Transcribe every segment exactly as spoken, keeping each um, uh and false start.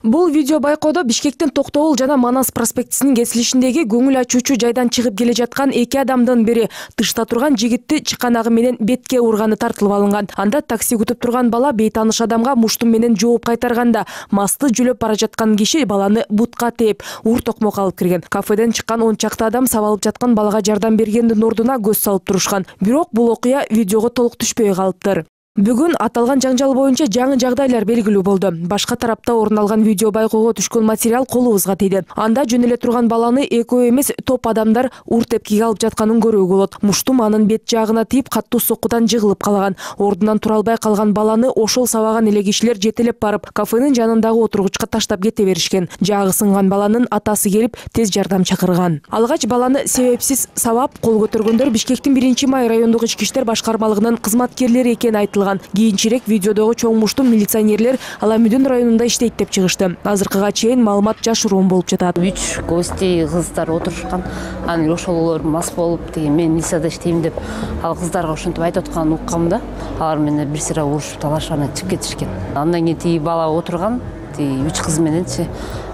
Бул видео байкоодо Бишкектин Токтогул жана Манас проспектисинин кесилишиндеги көңүл ачуучу жайдан чыгып келе жаткан эки адамдын бири тышта турган жигитти чыканагы менен бетке урганы тартылып алынган. Анда такси күтүп турган бала бейтааныш адамга муштум менен жооп кайтарганда масты жүлөп бара жаткан киши баланы бутка тээп, ур токмок алып кирген. Кафеден чыккан он чакты адам сабалып жаткан балага жардам бергендин ордуна көз салып турушкан. Бирок бул окуя видеого толук түшпөй калыптыр. Бүгүн аталган жаңжал боюнча жаңы жагдайлар белгилүү болду. Башка тарапта орун алган видео байкоого түшкөн материал колубузга тийди. Анда жөн эле турган баланы экөө эмес топ адамдар ур тепкиге алып жатканын көрүүгө болот. Муштум анын бет жагына тийип каттуу соккудан жыгылып калган. Ордунан тура албай калган баланы ошол сабаган эле кишилер жетелеп барып, кафенин жанындагы отургучка таштап кете беришкен. Жагы сынган баланын атасы келип тез жардам чакырган. Алгач баланы себепсиз сабап кол көтөргөндөр Бишкектин биринчи май райондук ички иштер башкармалыгынын кызматкерлери экени айтылган. Кийинчерээк видеодогу чоң муштум милиционерлер Аламүдүн районунда иштейт деп чыгышты. Азыркыга чейин маалымат жашыруун болуп жатат. Үч гости кыздар отурушкан. Анан ошолор мас болуп, деген мен милицияда иштейм деп, ал кыздарга ошентип айтып атканын уккам да. Алар менен бир сыйра урушуп талашып анан чыгып кетишкен. Андан кийин тиги бала отурган, тиги үч кыз мененчи.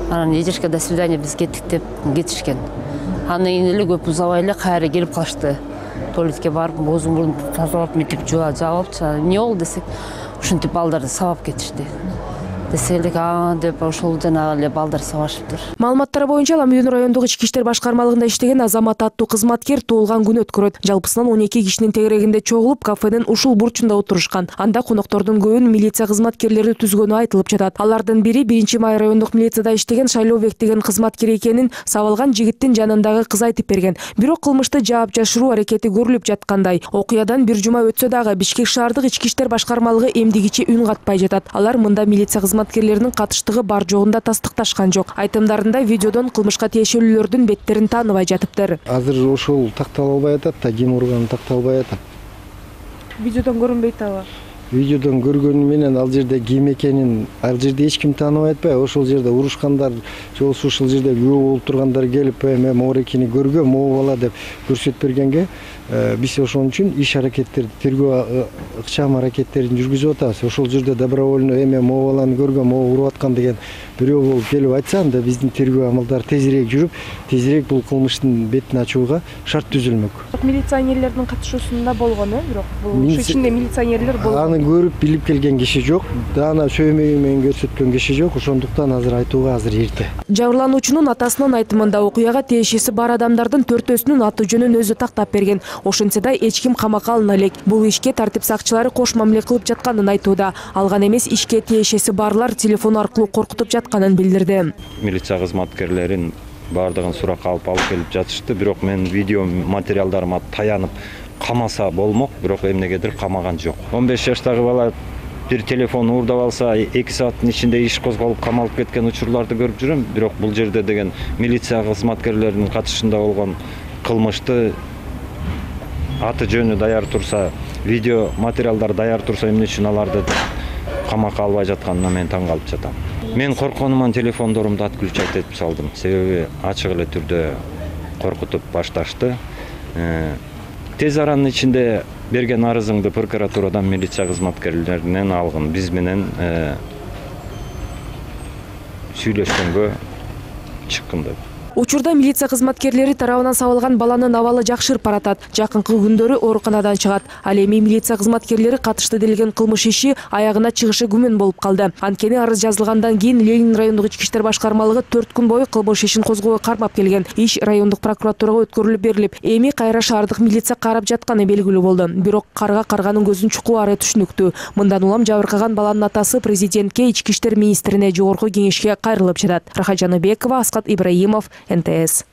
Анан эжешке до свидания биз кеттик деп кетишкен. Андан кийин эле көп узабай эле кайра келип калышты. Туалетке барып, оозун мурдун тазалап, мынтип жууа жаап, эмне болду десек, ушинтип балдарды сабап кетишти. Десек, а деп ошол жанагы эле балдар сабашыптыр. Маалыматтар боюнча Аламүдүн райондук ички иштер башкармалыгында иштеген Азамат аттуу кызматкер туулган күн өткөрөт. Жалпысынан он эки кишинин тегерегинде чогулуп, кафенин ушул бурчунда отурушкан. Анда коноктордун көбүн милиция кызматкерлери түзгөнү айтылып жатат. Алардын бири биринчи май райондук милицияда иштеген Шайлообек деген кызматкер экенин сабалган жигиттин жанындагы кыз айтып берген. Бирок кылмышты жаап жашыруу аракети көрүлүп жаткандай. Окуядан бир жума өтсө дагы Бишкек шаардык ички иштер башкармалыгы эмдигичи үн катпай жатат. Алар мында милиция кызматкерлеринин катыштыгы бар жогун да тастыкташкан жок. Айтымдарында видеодон кылмышка тиешелүүлөрдүн беттерин тааныбай жатыптыр. Азыр ошол тактала албай атат да, ким урганын такталбай атат. Видеодон көрүнбөйт аба. Видеодон көргөнү менен ал жерде ким экенин ал жерде эч ким тааныбай атпайбы? Ошол жерде урушкандар, жолсу ушул жерде күбө болуп тургандар келип, мен моорекини көргөм, могу бала деп көрсөтүп бергенге биз ошон үчүн иш аракеттер, тергөө ыкчам аракеттерин жүргүзүп атабыз. Ошол жерде добровольно эме могу баланы көргөм, могу уруп аткан деген бирөө болуп келип айтса, анда биздин тергөө амалдары тезирээк жүрүп, тезирээк бул кылмыштын бетин ачууга шарт түзүлмөк. Милиционерлердин катышуусунда болгон, э, бирок бул ушу ичинде милиционерлер болгон. Аны көрүп билип келген киши жок, даана сөймөгү менен көрсөткөн киши жок, ошондуктан азыр айтууга азыр эрте. Жабырлануучунун атасынын айтымында окуяга тиешеси бар адамдардын төртөөсүнүн аты жөнүн өзү тактап берген. Ошентсе да эч ким камакка алына элек. Бул ишке тартип сакчылары кош мамиле кылып жатканын айтууда. Алган эмес ишке тиешеси барлар телефон аркылуу коркутуп жатканын билдирди. Милиция кызматкерлерин бардыгын суракка алып алып келип жатышты, бирок мен видео материалдарыма таянып камаса болмок, бирок эмнегедир камаган жок. он беш жаштагы бала бир телефон уурдап алса, эки сааттын ичинде иш козголуп камалып кеткен учурларды көрүп жүрөм, бирок бул жерде деген милиция кызматкерлеринин катышында болгон кылмышты аты жөнү даяр турса, видео материалдар даяр турса, эмне үчүн аларды камакка албай жатканына мен таң калып жатам. Мен коркконуман телефондорумду отключать этип салдым. Себеби ачык эле түрдө коркутуп башташты. Тез аранын ичинде берген арызыңды прокуратурадан милиция кызматкерлеринен алгын. Биз менен сүйлөшкөнгө чыккын деп. Учурда милиция кызматкерлери тарабынан сабалган баланын абалы жакшырып баратат. Жакынкы күндөрү ооруканадан чыгат. Ал эми милиция кызматкерлери катышты делген кылмыш иши аягына чыгышы күмөн болуп калды. Анткени арыз жазылгандан кийин Ленин райондук ички иштер башкармалыгы төрт күн бою кылмыш ишин козгоого кармап келген. Иш райондук прокуратурага өткөрүлүп берилип, эми кайра шаардык милиция карап жатканы белгилүү болду. Бирок карға карганын көзүн чукуары түшүнүктүү. Мындан улам жабыркаган баланын атасы президентке, ички иштер министрине, жогорку кеңешке кайрылып жатат. Рахат Жаныбекова, Аскат Ибраимов, эн тэ эс.